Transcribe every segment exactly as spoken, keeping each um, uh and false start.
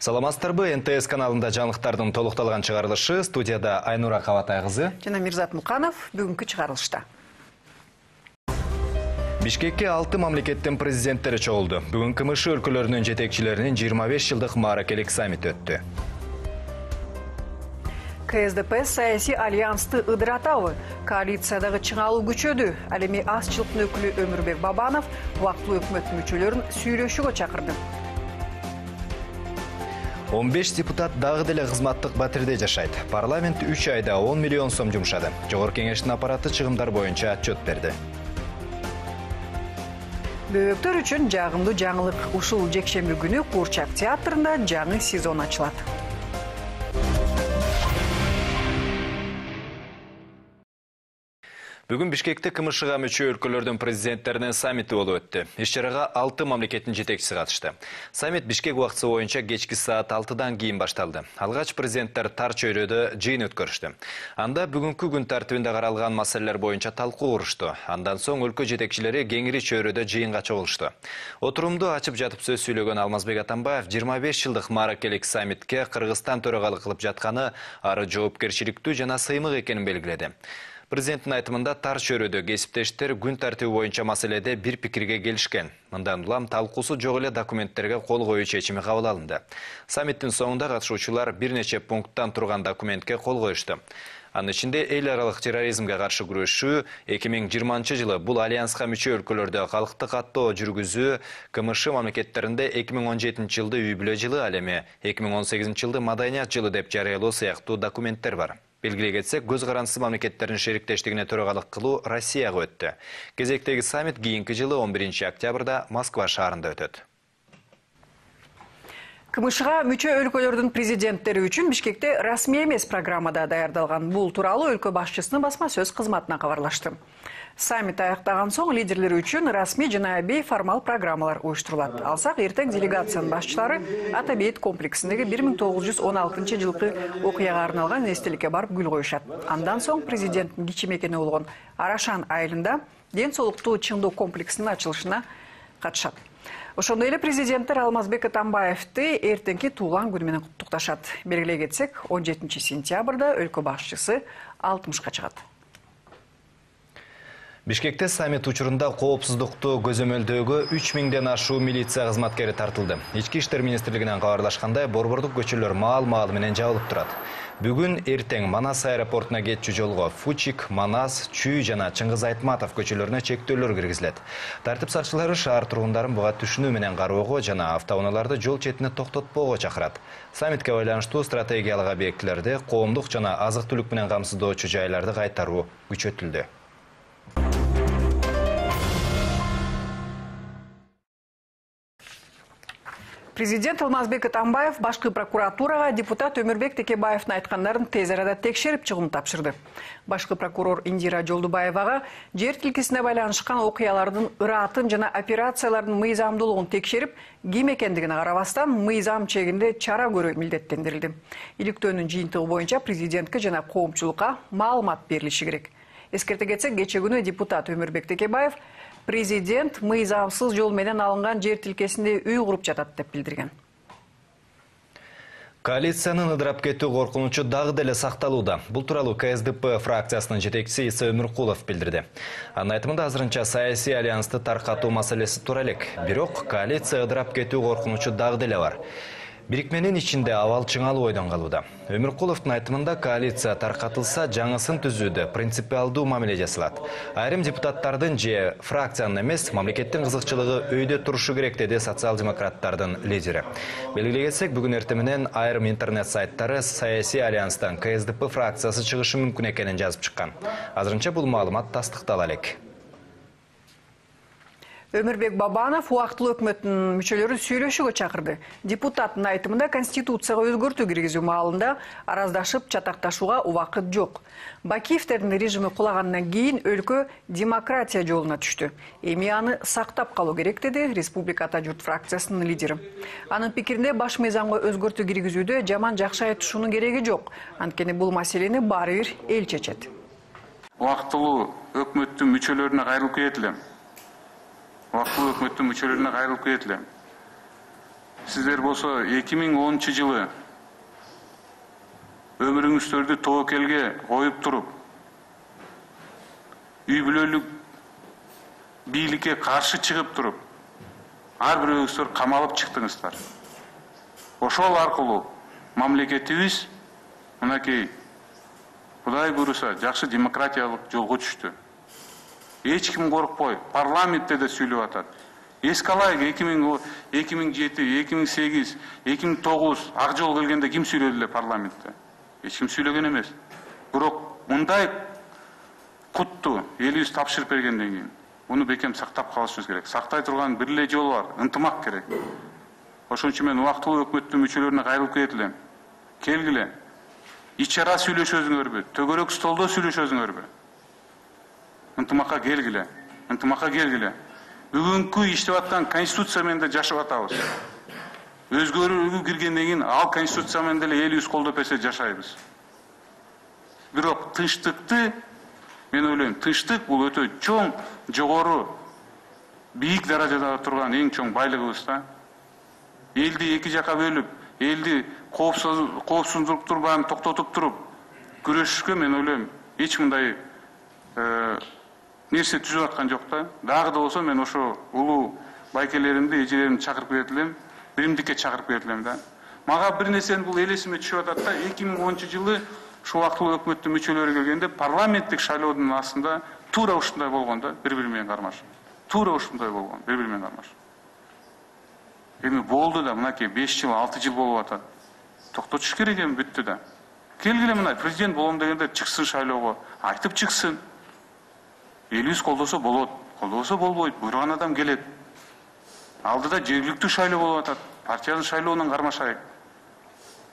Саламатсыздарбы, эн тэ эс каналында жаңылыктардын толукталган чыгарылышы, студияда Айнура Кабатай кызы жана Мирзат Муканов бүгүнкү чыгарылышта. Бишкекке алты мамлекеттин президенттери чогулду. Бүгүн КМШ өлкөлөрүнүн жетекчилеринин жыйырма беш жылдык мааракелик саммити өттү. ка эс дэ пэ саясий альянсты ыдыратабы? Коалициядагы чыңалуу күчөдү. Ал эми азчылыктын өкүлү Өмүрбек Бабанов убактылуу өкмөт мүчөлөрүн сүйлөшүүгө чакырды. он беш депутат дагы деле кызматтык батирде жашайт. Парламент үч айда он миллион сом жумшады. Жогорку кеңештин аппараты чыгымдар боюнча отчет берди. Бөбөктөр үчүн жагымдуу жаңылык. Ушул жекшемби күнү Куурчак театрында жаңы сезон ачылат. Бүгүн Бишкекте КМШга мүчө өлкөлөрдүн президенттеринин саммити болуп өттү. Иш-чарага алты мамлекеттин жетекчиси катышты. Саммит Бишкек убактысы боюнча кечки саат алтыдан кийин башталды. Алгач президенттер тар чөйрөдө жыйын өткөрүштү. Анда бүгүнкү күн тартибинде каралган маселелер боюнча талкуу курушту. Андан соң өлкө жетекчилери кеңири чөйрөдө жыйынга чогулушту. Отурумду ачып жатып сөз сүйлөгөн Алмазбек Атамбаев жыйырма беш жылдык мааракелик саммитке Кыргызстан төрагалык кылып жатканы ары жоопкерчиликтүү жана сыймык экенин белгиледи. Президенттин айтымында тар чөйрөдө кесиптештер күн тартиби боюнча маселеде бир пикирге келишкен. Мындан улам талкуусу жок эле документтерге кол коюу чечими кабыл алынды. Саммиттин соңунда катышуучулар бир нече пункттан турган документке кол коюшту. Анын ичинде эл аралык терроризмге каршы күрөшүү, эки миң жыйырманчы жылы бул альянска мүчө өлкөлөрдө калкты каттоо жүргүзүү, КМШ мамлекеттеринде эки миң он жетинчи жылды үй бүлө жылы, ал эми эки миң он сегизинчи жылды маданият жылы деп жарыялоо сыяктуу документтер бар. Белгилей кетсек, көз карансыз мамлекеттердин шериктештигине төрагалык кылуу Россияга өттү. Кезектеги саммит кийинки жылы он биринчи октябрда Москва шаарында өтөт. КМШга мүчө өлкөлөрдүн президенттери үчүн Бишкекте расмий эмес программада даярдалган. Бул тууралуу өлкө башчысынын басма сөз кызматына кабарлашты. Саммит аяктаган соң лидерлер үчүн расмий жана бейформал программалар уюштурулат. Алсак эртең делегациянын башчылары Атабейт комплексиндеги бир миң тогуз жүз он алтынчы жылкы окуяга арналган эстеликке барып гүл коюшат. Андан соң президенттин кичи мекени болгон Арашан айылында ден соолуктуу чыңдоо комплексинин ачылышына катышат. Ошондой эле президенттер Алмазбек Атамбаевди эртеңки туулган күнү менен куттукташат. Белгилей кетсек, он жетинчи сентябрда өлкө башчысы алтымышка чыгат. Бишкекте саммит учурунда коопсуздукту көзөмөлдөөгө үч миңден ашуу милиция кызматкери тартылды. Ички иштер министрлигинен кабарлашкандай, борбордук көчөлөр маал-маал менен жабылып турат. Бүгүн эртең Манас аэропортуна кетчү жолго Фучик, Манас, Чүй жана Чыңгыз Айтматов көчөлөрүнө чектөөлөр киргизилет. Тартип сакчылары шаар тургундарын буга түшүнүү менен кароого жана автоунааларды жол четине токтотпоого чакырат. Саммитке байланыштуу стратегиялык объектилерди, коомдук жана азык-түлүк менен камсыздоочу жайларды кайтаруу күчөтүлдү. Президент Алмазбек Атамбаев башкы прокуратурага депутат Өмүрбек Текебаевдин айткандарын тез арада текшерип чыгым тапшырды. Башкы прокурор Индира Жолдубаевага жер тилкесине байланышкан окуялардын ыратын жана операциялардын мыйзамдуулугун текшерип, ким экендигине карабастан мыйзам чегинде чара көрүү милдеттендирилди. Иликтөөнүн жыйынтыгы боюнча президентке жана коомчулукка маалымат берилиши керек. Эскерте кетсек, кече күнү депутат Өмүрбек Текебаев президент мыйзамсыз жол менен алынган жер тилкесинде үй куруп жатат деп билдирген. Коалициянын ыдырап кетүү коркунучу дагы деле сакталууда. Бул тууралуу ка эс дэ пэ фракциясынын жетекчиси Иса Өмүркулов билдирди. Анын айтымында азырынча саясий альянсты таркатуу маселеси тура элек. Бирок коалиция ыдырап кетүү коркунучу дагы деле бар. Бирикменин ичинде абал чыңалуу ойдон калууда. Өмүркуловдун айтымында коалиция таркатылса, жаңысын түзүүдө принципиалдуу мамиле жасалат. Айрым депутаттардын же фракциянын эмес, мамлекеттин кызыкчылыгы өйдө турушу керек, деди социал-демократтардын лидери. Белгилей кетсек, бүгүн эртең менен айрым интернет сайттары саясий альянстан ка эс дэ пэ фракциясы чыгышы мүмкүн экенин жазып чыккан. Азырынча бул маалымат тастыктала элек. Өмүрбек Бабанов убактылуу өкмөттүн мүчөлөрүн сүйлөшүүгө чакырды. Депутаттын айтымында конституцияга өзгөртүү киргизүү маалында араздашып чатакташууга убакыт жок. Бакиевдердин режими кулагандан кийин өлкө демократия жолуна түштү. Эми аны сактап калуу керек, деди Республика Ата журт фракциясынын лидери. Анын пикиринде баш мыйзамга өзгөртүү киргизүүдө жаман жакшы айтышуунун кереги жок. Анткени бул маселени баары бир эл чечет. Убактылуу өкмөттүн мүчөлөрүнө кайрылып кетилем. Убактылуу өкмөттүн мүчөлөрүнө кайрылып кетилем. Сиздер болсо эки миң онунчу жылы өмүрүңүздөрдү тобокелге коюп туруп, үй бүлөлүк бийликке каршы чыгып туруп, ар бирөөңүздөр камалып чыктыңыздар. Ошол аркылуу мамлекетибиз мынакей Кудай буйруса жакшы демократиялык жолго түштү. Эч ким коркпой, парламентте да сүйлөп атат. Эске алайык эки миң жети, эки миң сегиз, эки миң тогуз ак жол келгенде ким сүйлөдү эле парламентте? Эч ким сүйлөгөн эмес. Бирок мындай кутту элибиз тапшырып бергенден кийин муну бекем сактап калышыбыз керек. Сактай турган бир эле жол бар, ынтымак керек. Ошон үчүн мен убактылуу өкмөттүн мүчөлөрүнө кайрылып кетилем. Келгиле. Ич ара сүйлөшөзүңөрбү, төгөрөк столдо сүйлөшөзүңөрбү? Ынтымакка келгиле. Ынтымакка келгиле. Бүгүнкү иштеп аткан конституция менен да жашап атабыз. Өзгөрүүгө киргенден кийин ал конституция менен деле элибиз колдоп берсе жашайбыз. Бирок тынчтыкты мен ойлойм, тынчтык бул өтө чоң, жогору, бийик даражада турган эң чоң байлыгыбыз да. Элди эки жака бөлүп, элди коопсуздукту баарын токтотуп туруп, күрөшүшкө мен ойлойм, эч мындай нерсе түзүп аткан жок да. Дагы да болсо мен ошо улуу байкелеримди, эжелеримди чакырып кетилем, биримдикке чакырып кетилем да. Мага бир нерсени бул элесиме түшүп атат да, эки миң онунчу жылы ушул убактылуу өкмөттүн мүчөлөрү келгенде парламенттик шайлоодун астында туура ушундай болгон да, бири-бири менен кармаш. Туура ушундай болгон, бири-бири менен кармаш. Эми болду да, мынакей беш жыл, алты жыл болуп атат. Токтотуш керек эми, бүттү да. Келгиле мына президент болом дегенде чыксын шайлоого, айтып чыксын. Элибиз колдосо болот, колдобосо болбойт, буйруган адам келет. Алдыда жергиликтүү шайлоо болуп атат, партиянын шайлоонун кармашайык.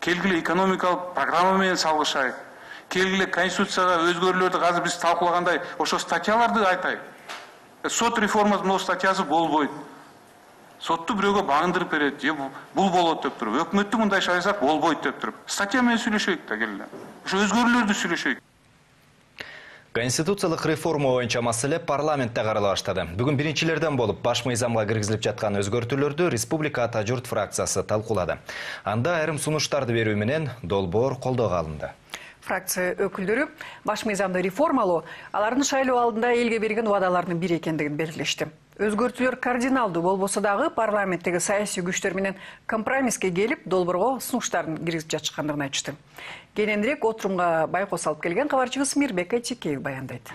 Келгиле экономикалык программа менен салгышайык. Келгиле конституцияга өзгөрүүлөрдү азыр биз талкуулагандай ошо статьяларды айтайык. Сот реформасынын статьясы болбойт. Сотту бирөөгө багындырып берет, же бул болот деп туруп, өкмөттү мындай шайласак болбойт деп туруп. Статья менен сүйлөшөйүк да, келгиле. Ошо өзгөрүүлөрдү сүйлөшөйүк. Конституциялык реформа боюнча маселе парламентте карала баштады. Бүгүн биринчилерден болуп баш мыйзамга киргизилип жаткан өзгөртүүлөрдү Республика Ата журт фракциясы талкуулады. Анда айрым сунуштарды берүү менен долбоор колдоого алынды. Фракция өкүлдөрү баш мыйзамды реформалоо алардын шайлоо алдында элге берген убадаларынын бири экендигин белгилешти. Өзгөртүүлөр кардиналдуу болбосо дагы парламенттеги саясий күчтөр менен компромисске келип, долбоорго сунуштарын киргизип жатышкандыгын айтышты. Кененирээк отурумга байкос алып келген кабарчыбыз Мирбек Айтекеев баяндайт.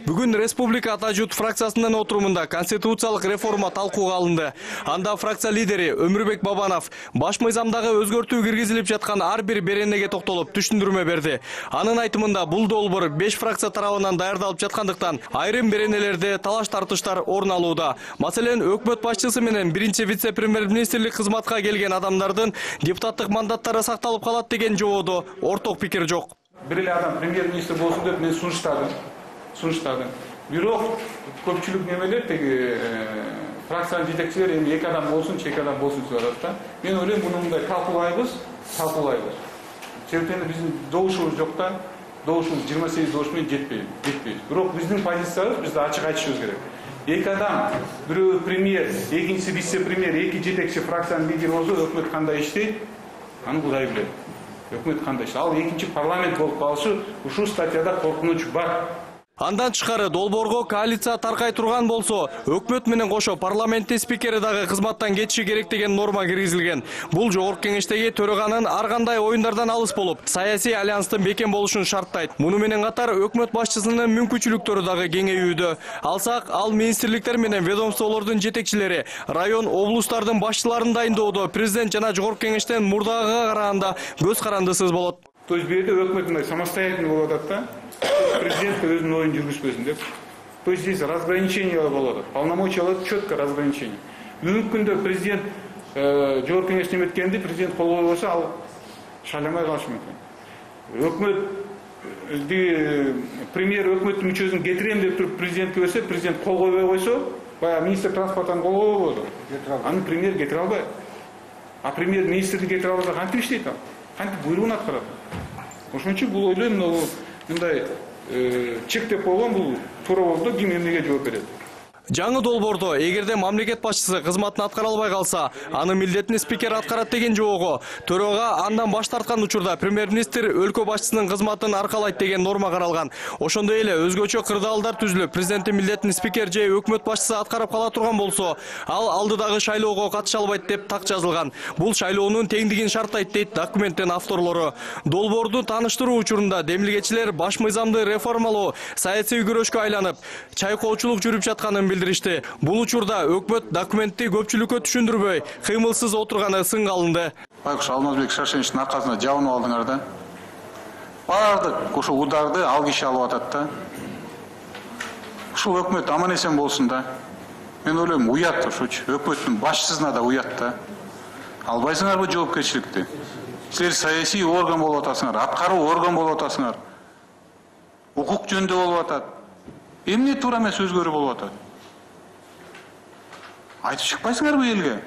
Бүгүн Республика Ата журт фракциясынын отурумунда конституциялык реформа талкууга алынды. Анда фракция лидери Өмүрбек Бабанов баш мыйзамдагы өзгөртүү киргизилип жаткан ар бир беренеге токтолуп түшүндүрмө берди. Анын айтымында бул долбоор беш фракция тарабынан даярдалып жаткандыктан айрым беренелерде талаш тартыштар орун алууда. Маселен, өкмөт башчысы менен биринчи вице-премьер-министрлик кызматка келген адамдардын депутаттык мандаттары сакталып калат деген жободо орток пикир жок. Бир эле адам премьер-министр болсун деп мен сунуштадым. Сунуштадым. Бирок көпчүлүк немелер теги фракциянын жетекчилери эми эки адам болсун, эки адам болсун деп атат да. Мен ойлойм, муну мындай талкуулайбыз, талкуулайбыз. Себептен биздин добушубуз жок да, добушубуз жыйырма сегиз добуш менен жетпейт, жетпейт. Бирок биздин позициябыз, бизде ачык айтышыбыз керек. Эки адам, бирөө премьер, экинчиси вице-премьер, эки жетекчи фракциянын лидери болсо, өкмөт кандай иштейт? Аны Кудай билет. Өкмөт кандай иштейт? Ал экинчи парламент болуп калышы ушул статьяда коркунуч бар. Андан тышкары долбоорго коалиция таркай турган болсо, өкмөт менен кошо парламенттин спикери дагы кызматтан кетиши керек деген норма киргизилген. Бул жогорку кеңештеги төраганын ар кандай оюндардан алыс болуп, саясий альянстын бекем болушун шарттайт. Муну менен катар өкмөт башчысынын мүмкүнчүлүктөрү дагы кеңейүүдө. Алсак, ал министрликтер менен ведомстволордун жетекчилери, район, облустардын башчыларын дайындоодо президент жана жогорку кеңештен мурдагыга караганда көз карандысыз болот. То есть бул жерде өкмөт мындай самостоятельный болуп атат да. Президент өзүнүн оюн жүргүзбөсүн деп. То есть здесь разграничение болуп атат. Полномочиялар четко разграничение. Бүгүнкү күндө президент жогорку кеңеш неметкенди президент кол койбосо, ал шайламай калышы мүмкүн. Өкмөт премьер өкмөттүн мүчөсүн кетирем деп туруп президентке берсе, президент кол койбой койсо, баягы министр транспорттан кол койбой болду. Аны премьер кетире албайт. А премьер министрди кетире албаса кантип иштейт ал? Кантип буйругун аткарат? Ошон үчүн бул ойлойм, мындай чек деп койгон бул туура болду, ким эмнеге жооп берет. Жаңы долбоордо эгерде мамлекет башчысы кызматын аткара албай калса, анын милдетин спикер аткарат деген жоого, төрага андан баш тарткан учурда премьер-министр өлкө башчысынын кызматын аркалайт деген норма каралган. Ошондой эле өзгөчө кырдаалдар түзүлүп, президенттин милдетин спикер же өкмөт башчысы аткарып кала турган болсо, ал алдыдагы шайлоого катыша албайт деп так жазылган. Бул шайлоонун теңдигин шарттайт дейт документтин авторлору. Долбоорду тааныштыруу учурунда демилгечилер баш мыйзамды реформалоо саясий күрөшкө айланып, чайкоочулук жүрүп жатканын билдиришти. Бул учурда өкмөт документти көпчүлүккө түшүндүрбөй, кыймылсыз отурганы сынга алынды. Байкуш Алмазбек Шаршеновичтин аркасына жабынып алдыңар да. Бардык ошо ударды ал киши алып атат да. Ушул өкмөт аман эсен болсун да. Мен ойлойм, уят ошочу. Өкмөттүн башчысына да уят да. Албайсыңарбы жоопкерчиликти? Силер саясий орган болуп атасыңар, аткаруу орган болуп атасыңар. Укук жөнүндө болуп атат. Эмне туура эмес өзгөрүү болуп атат? Айтып чыкпайсыңарбы элге?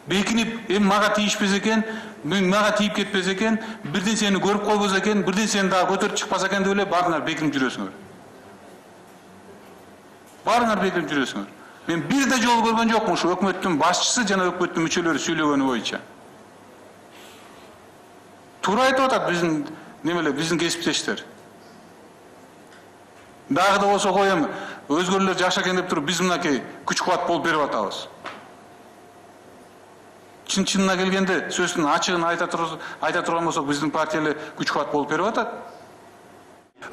Бекинип, эми мага тийишпес экен, мага тийип кетпес экен, бирден сени көрүп койбос экен, бирден сени дагы көтөрүп чыкпас экен деп эле баарыңар бекинип жүрөсүңөр. Баарыңар бекинип жүрөсүңөр. Мен бир да жолу көргөн жокмун ушу өкмөттүн башчысы жана өкмөттүн мүчөлөрү сүйлөгөнү боюнча. Туура айтып атат биздин немелер, биздин кесиптештер. Дагы да болсо коем, өзгөлөр жакшы экен деп туруп, биз мынакей күч кубат болуп берип атабыз. Чын чынына келгенде сөздүн ачыгын айта турган болсок, биздин партия эле күч кубат болуп берип атат.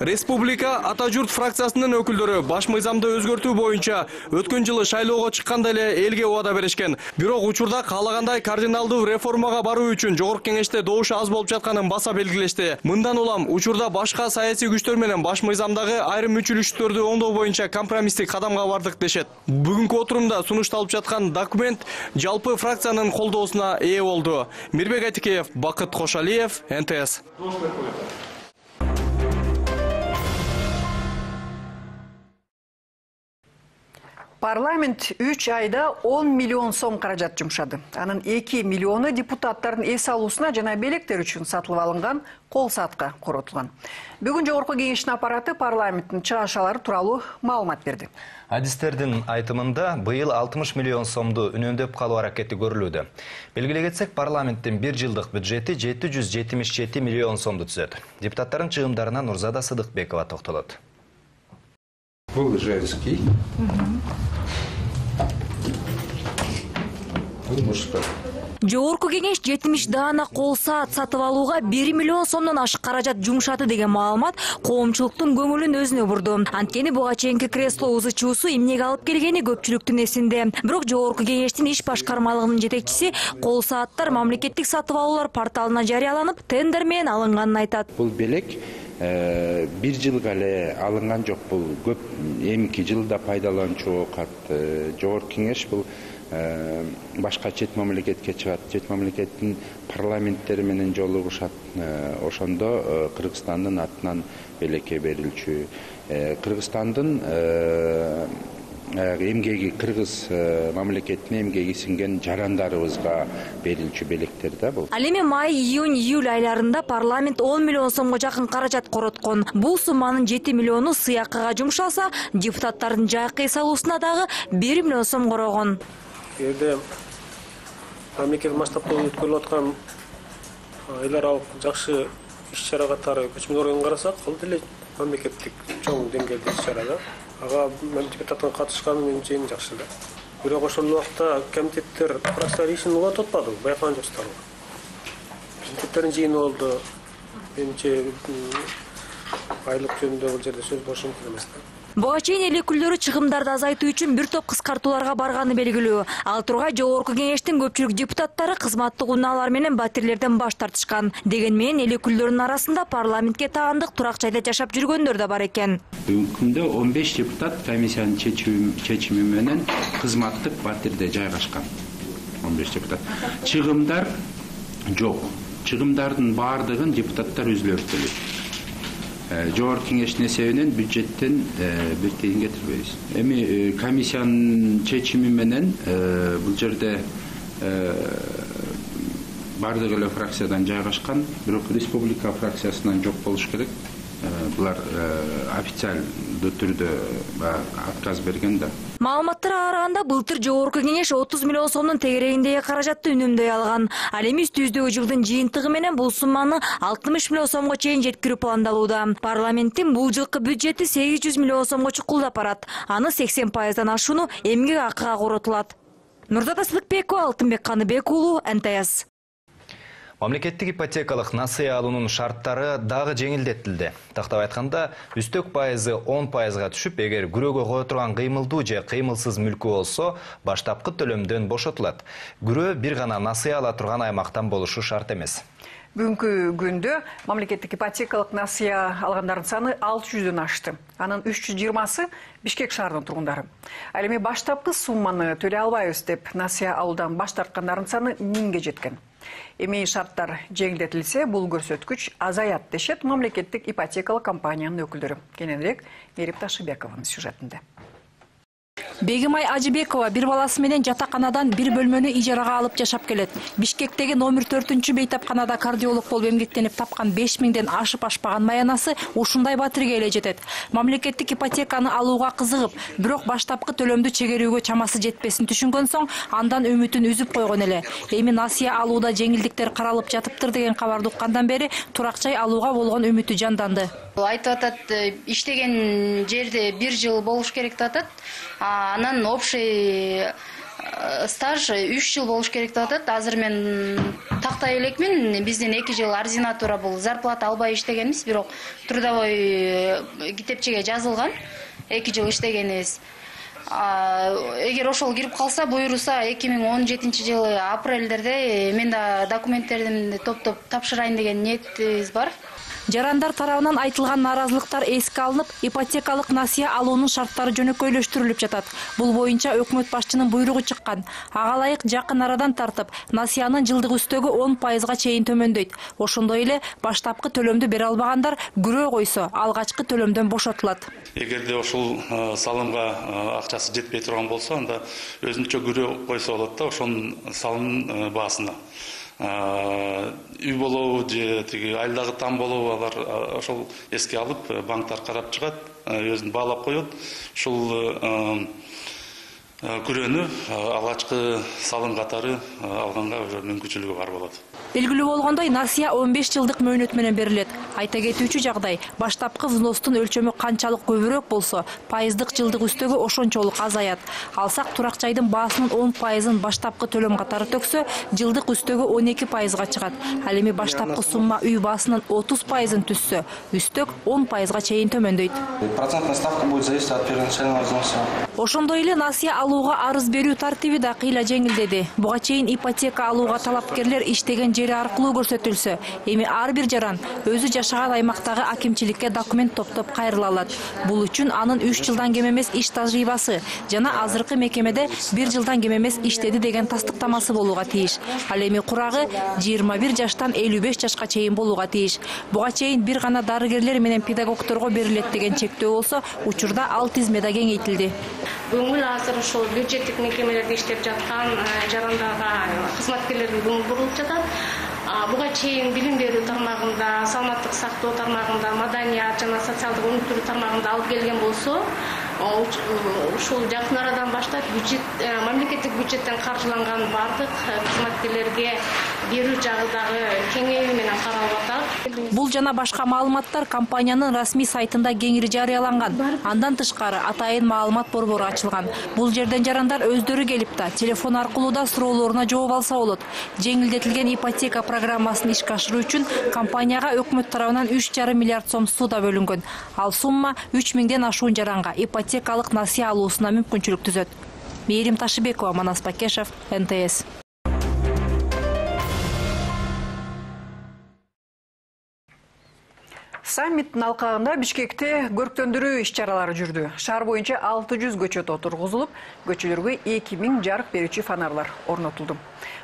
Республика Ата журт фракциясынын өкүлдөрү баш мыйзамды өзгөртүү боюнча өткөн жылы шайлоого чыкканда эле элге убада беришкен. Бирок учурда каалагандай кардиналдуу реформага баруу үчүн жогорку кеңеште добуш аз болуп жатканын баса белгилешти. Мындан улам учурда башка саясий күчтөр менен баш мыйзамдагы айрым мүчүлүштөрдү оңдоо боюнча компромисстик кадамга бардык дешет. Бүгүнкү отурумда сунушталып жаткан документ жалпы фракциянын колдоосуна ээ болду. Мирбек Айтикеев, Бакыт Кошалиев, эн тэ эс. Парламент үч айда он миллион сом каражат жумшады. Анын эки миллиону депутаттардын эс алуусуна жана белектер үчүн сатылып алынган кол саатка коротулган. Бүгүн жогорку кеңештин аппараты парламенттин чыгашалары тууралуу маалымат берди. Адистердин айтымында быйыл алтымыш миллион сомду үнөмдөп калуу аракети көрүлүүдө. Белгилей кетсек, парламенттин бир жылдык бюджети жети жүз жетимиш жети миллион сомду түзөт. Депутаттардын чыгымдарына Нурзада Сыдыкбекова токтолот. Бул женский. Бул мужской. Жогорку кеңеш жетимиш даана кол саат сатып алууга бир миллион сомдон ашык каражат жумшады деген маалымат коомчулуктун көңүлүн өзүнө бурду. Анткени буга чейинки кресло узычуусу эмнеге алып келгени көпчүлүктүн эсинде. Бирок жогорку кеңештин иш башкармалыгынын жетекчиси кол сааттар мамлекеттик сатып алуулар порталына жарыяланып, тендер менен алынганын айтат. Бул белек бир жылга эле алынган жок. Бул көп эмки жылда пайдаланчу кат. Жогорку кеңеш бул башка чет мамлекетке чыгат, чет мамлекеттин парламенттери менен жолугушат. Ошондо Кыргызстандын атынан белекке берилчү. Кыргызстандын эмгеги, кыргыз мамлекетине эмгеги сиңген жарандарыбызга берилчү белектер да бул. Ал эми май, июнь, июль айларында парламент он миллион сомго жакын каражат короткон. Бул сумманын жети миллиону сыяккыга жумшалса, депутаттардын жайкы эс алуусуна дагы бир миллион сом корогон. Эгерде мамлекет масштабында өткөрүлүп аткан эл аралык жакшы иш-чара катары көчмө органын карасак, ал деле мамлекеттик чоң деңгээлде иш-чара да. Ага депутаттын катышканы менимче эң жакшы да. Бирок ошол убакта комитеттер фракциялар ишин улантып атпады, байкаган жоксуздар. Комитеттердин жыйыны болду. Менимче айлык жөнүндө бул жерде сөз болушу мүмкүн эмес да. Буга чейин эл өкүлдөрү чыгымдарды азайтуу үчүн бир топ кыскартууларга барганы белгилүү. Ал тургай жогорку кеңештин көпчүлүк депутаттары кызматтык унаалар менен батирлерден баш тартышкан. Деген менен эл өкүлдөрүнүн арасында парламентке таандык турак жайда жашап жүргөндөр да бар экен. Бүгүнкү күндө он беш депутат комиссиянын чечими менен кызматтык батирде жайгашкан. он беш депутат. Чыгымдар жок. Чыгымдардын баардыгын депутаттар өзүлөрү төлөйт. Жогорку кеңештин эсебинен бюджеттен бир тыйын кетирбейбиз. Эми комиссиянын чечими менен бул жерде бардык эле фракциядан жайгашкан, бирок республика фракциясынан жок болуш керек. Булар официаль коопсуздуу түрдө отказ берген да. Маалыматтарга караганда былтыр жогорку кеңеш отуз миллион сомдун тегерегиндеги каражатты үнөмдөй алган. Ал эми үстүбүздөгү жылдын жыйынтыгы менен бул сумманы алтымыш миллион сомго чейин жеткирүү пландалууда. Парламенттин бул жылкы бюджети сегиз жүз миллион сомго чукулдап барат. Аны сексен пайыздан ашууну эмгек акыга коротулат. Нурзата Сыдыкбекова, Алтынбек Каныбек уулу, эн тэ эс. Мамлекеттик ипотекалык насыя алуунун шарттары дагы жеңилдетилди. Тактап айтканда, үстөк пайызы он пайызга түшүп, эгер күрөөгө кое турган кыймылдуу же кыймылсыз мүлкү болсо, баштапкы төлөмдөн бошотулат. Күрөө бир гана насыя ала турган аймактан болушу шарт эмес. Бүгүнкү күндө мамлекеттик ипотекалык насыя алгандардын саны алты жүздөн ашты. Анын үч жүз жыйырмасы Бишкек шаарынын тургундары. Ал эми баштапкы сумманы төлөй албайбыз деп насыя алуудан баш тарткандардын саны миңге жеткен. Эми шарттар жеңилдетилсе, бул көрсөткүч азаят дешет мамлекеттик ипотекалык компаниянын өкүлдөрү. Кененирээк Мерип Ташыбекованын сюжетинде. Бегимай Ажыбекова бир баласы менен жатаканадан бир бөлмөнү ижарага алып жашап келет. Бишкектеги номер төртүнчү бейтапканада кардиолог болуп эмгектенип тапкан беш миңден ашып ашпаган маянасы ушундай батирге эле жетет. Мамлекеттик ипотеканы алууга кызыгып, бирок баштапкы төлөмдү чегерүүгө чамасы жетпесин түшүнгөн соң, андан үмүтүн үзүп койгон эле. Эми насыя алууда жеңилдиктер каралып жатыптыр деген кабарды уккандан бери турак-жай алууга болгон үмүтү жанданды. Айтып атат, иштеген жерде бир жыл болуш керек деп атат. Анан общий стаж үч жыл болуш керек деп атат. Азыр мен тактай элекмин, бизден эки жыл ординатура бул зарплата албай иштегенбиз, бирок трудовой китепчеге жазылган эки жыл иштегенибиз. Эгер ошол кирип калса, буйруса эки миң он жетинчи жылы апрелдерде мен да документтеримди топтоп тапшырайын деген ниетибиз бар. Жарандар тарабынан айтылган наразылыктар эске алынып, ипотекалык насыя алуунун шарттары жөнөкөйлөштүрүлүп жатат. Бул боюнча өкмөт башчынын буйругу чыккан. Ага ылайык жакын арадан тартып, насыянын жылдык үстөгү он пайызга чейин төмөндөйт. Ошондой эле баштапкы төлөмдү бере албагандар күрөө койсо, алгачкы төлөмдөн бошотулат. Эгерде ошол салымга акчасы жетпей турган болсо, анда өзүнчө күрөө койсо болот да, ошонун салымдын баасына. Үй болобу же тиги айылдагы там болобу, алар ошол эске алып, банктар карап чыгат, өзүн баалап коет. Ушул күрөөнү алгачкы салым катары алганга мүмкүнчүлүгү бар болот. Белгилүү болгондой, насыя он беш жылдык мөөнөт менен берилет. Айта кетүүчү жагдай, баштапкы взностун өлчөмү канчалык көбүрөөк болсо, пайыздык жылдык үстөгү ошончолук азаят. Алсак турак жайдын баасынын он пайызын баштапкы төлөм катары төксө, жылдык үстөгү он эки пайызга чыгат. Ал эми баштапкы сумма үй баасынын отуз пайызын түссө, үстөк он пайызга чейин төмөндөйт. Процентная ставка будет зависеть от первоначального взноса. Ошондой эле насыя алууга арыз берүү тартиби да кыйла жеңилдеди. Буга чейин ипотека алууга талапкерлер иштеген жери аркылуу көрсөтүлсө, эми ар бир жаран өзү жашаган аймактагы акимчиликке документ топтоп кайрыла алат. Бул үчүн анын үч жылдан кем эмес иш тажрыйбасы жана азыркы мекемеде бир жылдан кем эмес иштеди деген тастыктамасы болууга тийиш. Ал эми курагы жыйырма бир жаштан элүү беш жашка чейин болууга тийиш. Буга чейин бир гана дарыгерлер менен педагогдорго берилет деген чектөө болсо, учурда ал тизме да кеңейтилди. Көңүл азыр ошол бюджеттик мекемелерде иштеп жаткан жарандарга, кызматкерлерге көңүл бурулуп жатат. Буга чейин билим берүү тармагында, саламаттык сактоо тармагында, маданият жана социалдык өнүктүрүү тармагында алып келген болсо, ушул жакын арадан баштап бюджет, мамлекеттик бюджеттен каржыланган бардык кызматкерлерге берүү жагы дагы кеңейүү менен каралып атат. Бул жана башка маалыматтар компаниянын расмий сайтында кеңири жарыяланган. Андан тышкары атайын маалымат борбору ачылган. Бул жерден жарандар өздөрү келип да телефон аркылуу да суроолоруна жооп алса болот. Жеңилдетилген ипотека программасын ишке ашыруу үчүн компанияга өкмөт тарабынан үч жарым миллиард сом суда бөлүнгөн. Ал сумма үч миңден ашуун жаранга ипотекалык насыя алуусуна мүмкүнчүлүк түзөт. Мерим Ташыбекова, Манас Бакешев, эн тэ эс. Саммиттин алкагында Бишкекте көрктөндүрүү иш-чаралары жүрдү. Шаар боюнча алты жүз көчөт отургузулуп, көчөлөргө эки миң жарык берүүчү фонарлар орнотулду.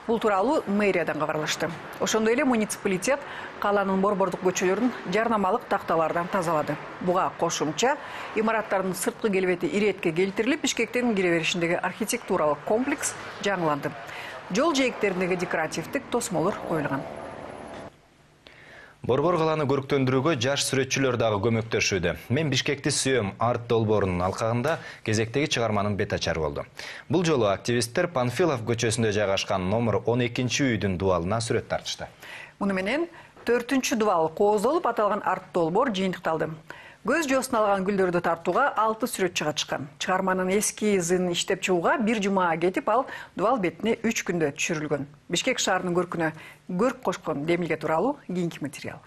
Бул тууралуу мэриядан кабарлашты. Ошондой эле муниципалитет каланын борбордук көчөлөрүн жарнамалык такталардан тазалады. Буга кошумча имараттардын сырткы келбети иретке келтирилип, Бишкектин кире беришиндеги архитектуралык комплекс жаңыланды. Жол жээктериндеги декоративдик тосмолор коюлган. Борбор каланы көрктөндүрүүгө жаш сүрөтчүлөр дагы көмөктөшүүдө. Мен Бишкекти сүйөм арт долбоорунун алкагында кезектеги чыгарманын бет ачары болду. Бул жолу активисттер Панфилов көчөсүндө жайгашкан номер он экинчи үйдүн дубалына сүрөт тартышты. Муну менен төртүнчү дубал кооздолуп аталган арт долбоор жыйынтыкталды. Көз жоосуна алган гүлдөрдү тартууга алты сүрөтчү катышкан. Чыгарманын эскизин иштеп чыгууга бир жума кетип, ал дубал бетине үч күндө түшүрүлгөн. Бишкек шаарынын көркүнө көрк кошкон демилге тууралуу кийинки материал.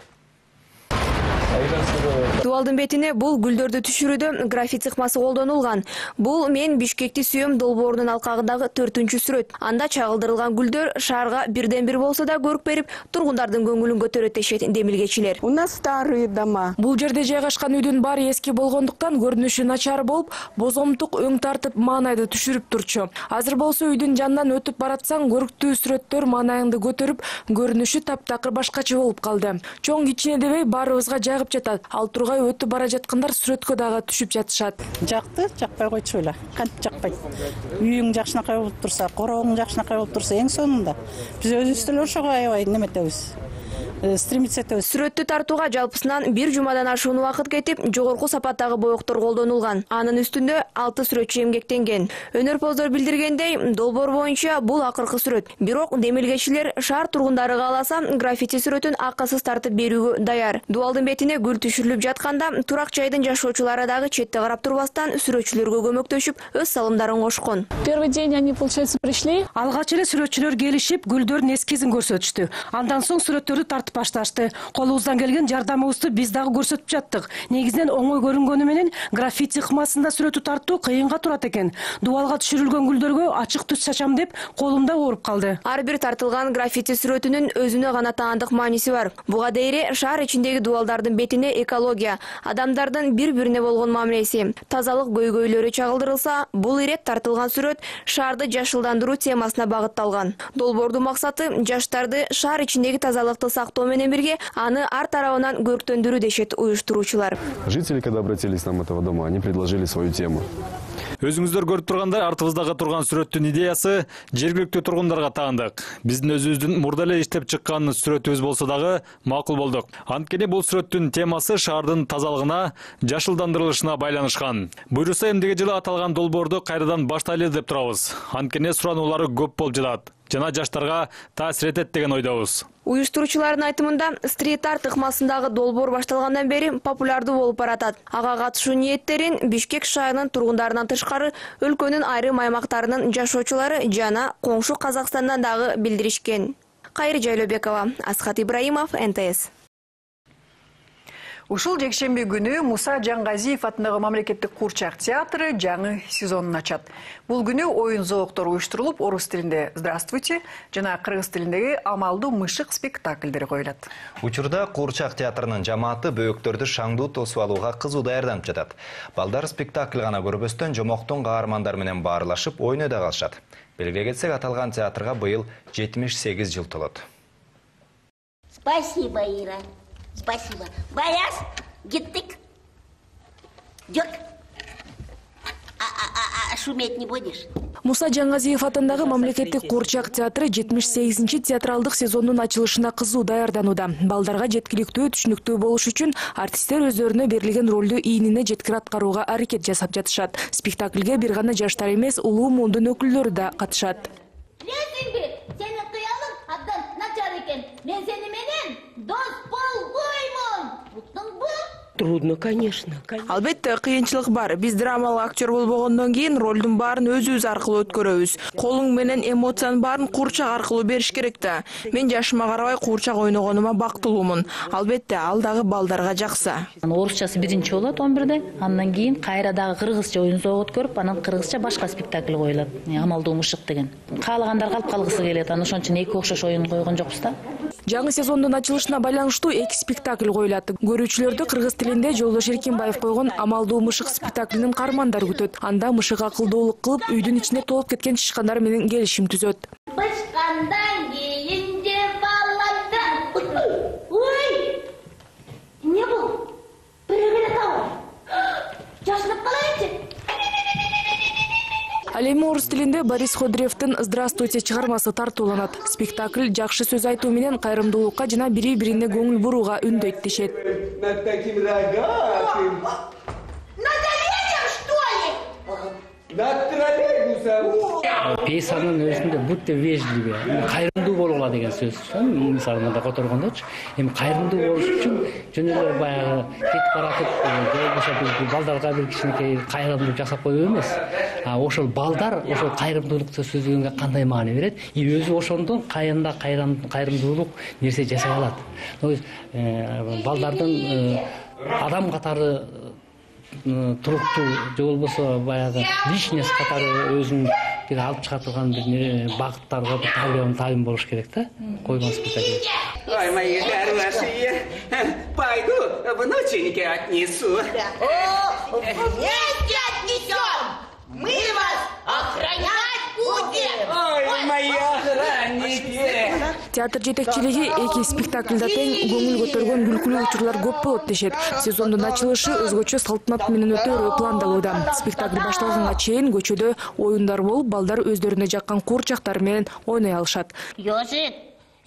Дубалдын бетине бул гүлдөрдү түшүрүүдө граффити цыкмасы колдонулган. Бул «Мен Бишкекти сүйөм» долбоорунун алкагындагы төртүнчү сүрөт. Анда чагылдырылган гүлдөр шаарга бирден бир болсо да көрк берип, тургундардын көңүлүн көтөрөт дешет демилгечилер. У нас старые дома. Бул жерде жайгашкан үйдүн баары эски болгондуктан көрүнүшү начар болуп, бозомтук өң тартып маанайды түшүрүп турчу. Азыр болсо үйдүн жанынан өтүп баратсаң, көрктүү сүрөттөр маанайыңды көтөрүп, көрүнүшү таптакыр башкача болуп калды. Чоң кичине дебей баарыбызга жайгып жатат. Ал тургай өтүп бара жаткандар сүрөткө дагы түшүп жатышат. Жакты, жакпай койчу эле. Кантип жакпайт? Үйүң жакшынакай болуп турса, короогуң жакшынакай болуп турса, эң сонунда биз өзүбүз деле ошого аябай неметебиз. Стремиться этебиз. Сүрөттү тартууга жалпысынан бир жумадан ашуун убакыт кетип, жогорку сапаттагы боектор колдонулган. Анын үстүндө алты сүрөтчү эмгектенген. Өнөрпоздор билдиргендей, долбоор боюнча бул акыркы сүрөт. Бирок демилгечилер шаар тургундары кааласа граффити сүрөтүн акысыз тартып берүүгө даяр. Дубалдын бетине гүл түшүрүлүп жатканда турак жайдын жашоочулары дагы четте карап турбастан сүрөтчүлөргө көмөктөшүп, өз салымдарын кошкон. Первый день они, получается, пришли. Алгач эле сүрөтчүлөр келишип, гүлдөрдүн эскизин көрсөтүштү. Андан соң сүрөттөрдү тартып башташты. Колубуздан келген жардамыбызды биз дагы көрсөтүп жаттык. Негизинен оңой көрүнгөнү менен граффити ыкмасында сүрөтү тартуу кыйынга турат экен. Дубалга түшүрүлгөн гүлдөргө ачык түс чачам деп колумда ооруп калды. Ар бир тартылган граффити сүрөтүнүн өзүнө гана таандык мааниси бар. Буга дейре шаар ичиндеги дубалдардын бетине экология, адамдардын бири-бирине болгон мамилеси, тазалык көйгөйлөрү чагылдырылса, бул ирет тартылган сүрөт шаарды жашылдандыруу темасына багытталган. Долбоордун максаты жаштарды шаар ичиндеги тазалыкты сактоо менен бирге аны ар тарабынан көрктөндүрүү дешет уюштуруучулар. Жители, когда обратились к нам этого дома, они предложили свою тему. Өзүңүздөр көрүп тургандай, артыбыздагы турган сүрөттүн идеясы жергиликтүү тургундарга таандык. Биздин өзүбүздүн мурда эле иштеп чыккан сүрөтүбүз болсо дагы макул болдук. Анткени бул сүрөттүн темасы шаардын тазалыгына, жашылдандырылышына байланышкан. Буйруса эмдиги жылы аталган долбоорду кайрадан баштайлы деп турабыз. Анткени сурануулары көп болуп жатат жана жаштарга таасир этет деген ойдобуз. Уюштуруучулардын айтымында, стрит-арт ыкмасындагы долбоор башталгандан бери популярдуу болуп баратат. Ага катышуу ниеттерин Бишкек шаарынын тургундарынан тышкары өлкөнүн айрым аймактарынын жашоочулары жана коңшу Казакстандан дагы билдиришкен. Кайры Жайлообекова, Асхат Ибраимов, эн тэ эс. Ушул жекшемби күнү Муса Жаңгазиев атындагы мамлекеттик куурчак театры жаңы сезонун ачат. Бул күнү оюн зооктору уюштурулуп, орус тилинде «Здравствуйте» жана кыргыз тилиндеги «Амалдуу мышык» спектакльдери коюлат. Учурда куурчак театрынын жамааты бөөктөрдү шаңдуу тосуп алууга кызуу даярданып жатат. Балдар спектакль гана көрбөстөн жомоктун каармандары менен баарлашып ойнойт да калышат. Белгилей кетсек, аталган театрга быйыл жетимиш сегиз жыл толот. Спасибо, Ира. Спасибо. Баяс, гиттик. Жок. А, а, а, шуметь не будешь? Муса Жаңгазиев атындагы мамлекеттик куурчак театры жетимиш сегизинчи театралдык сезондун ачылышына кызуу даярданууда. Балдарга жеткиликтүү, түшүнүктүү болуш үчүн артисттер өздөрүнө берилген ролду ийнине жеткир аткарууга аракет жасап жатышат. Спектакльге бир гана жаштар эмес, улуу мундун өкүлдөрү да катышат. Билесиңби, сени кыялым абдан начар экен. Мен сени менен дос болбоймун. Уктуңбу? Трудно, конечно. Албетте, кыйынчылык бар. Биз драмалык актер болбогондон кийин ролдун баарын өзүбүз аркылуу өткөрөбүз. Колуң менен эмоциянын баарын куурчак аркылуу бериш керек да. Мен жашыма карабай куурчак ойногонума бактылуумун. Албетте, ал дагы балдарга жакса. Орусчасы биринчи болот он бирде, андан кийин кайра дагы кыргызча оюн зоого өткөрүп, анан кыргызча башка спектакль коюлат. Амалдуу мышык деген. Каалагандар калып калгысы келет. Аны ошон үчүн эки окшош оюн койгон жокпуз да. Жаңы сезондун ачылышына байланыштуу эки спектакль коюлат. Көрүүчүлөрдү кыргыз тилинде Жолдош Эркинбаев койгон «Амалдуу мышык» спектаклинин каармандары күтөт. Анда мышык акылдуулук кылып, үйдүн ичине толуп кеткен тышкандар менен келишим түзөт. Бышкандан кийин же балада. Ой! Не бул? Бирегеле табыл. Жашынып калайынчы. Ал эми орус тилинде Борис Ходыревдин «Здравствуйте» чыгармасы тартууланат. Спектакль жакшы сөз айтуу менен кайрымдуулукка жана бири-бирине көңүл бурууга үндөйт дешет. Над таким рогатым. Над оленем, что ли? Над троллейбусом. Пьесанын өзүндө будьте вежливы, кайрымдуу болгула деген сөз. Мисалы мында которгондочу, эми кайрымдуу болуш үчүн жөн эле баягы кетип баратып, болбосо бир балдарга бир кичинекей кайрымдуулук жасап коюу эмес. А ошол балдар ошол кайрымдуулукту сөзлөгөнгө кандай маани берет? И өзү ошондон кайында кайрымдуулук нерсе жасай алат. То есть балдардын адам катары туруктуу же болбосо баягы личность катары өзүн бир алып чыга турган бир багыттарга бир табион табин болуш керек да, койгон спектакль. Ой, мои хорошие, пойду внученьке отнесу. О, вместе отнесем! Мы вас охранять будем! Ой, мои охранники! Театр жетекчилиги эки спектаклда тең көңүл көтөргөн күлкүлүү учурлар көп болот дешет. Сезондун ачылышы өзгөчө салтанат менен өтөөрү пландалууда. Спектакль башталганга чейин көчөдө оюндар болуп, балдар өздөрүнө жаккан куурчактар менен ойной алышат. Йосит,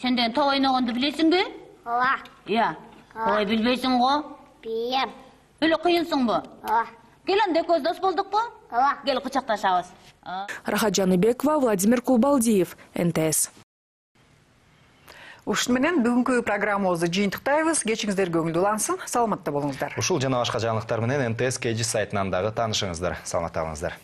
сен деген топ ойногонду билесиңби? Ооба. Ия. Ой, билбейсиң го? Билем. Эле кыйынсыңбы? Ооба. Кел анда экөөбүз дос болдукпу? Ооба. Кел кучакташабыз. Рахат Жаныбекова, Владимир Кулбалдиев, эн тэ эс. Ушун менен бүгүнкү программабызды жыйынтыктайбыз. Кечиңиздер көңүлдүү улансын. Саламатта болуңуздар. Ушул жана башка жаңылыктар менен эн тэ эс кей жи сайтынан дагы таанышыңыздар. Саламатта болуңуздар.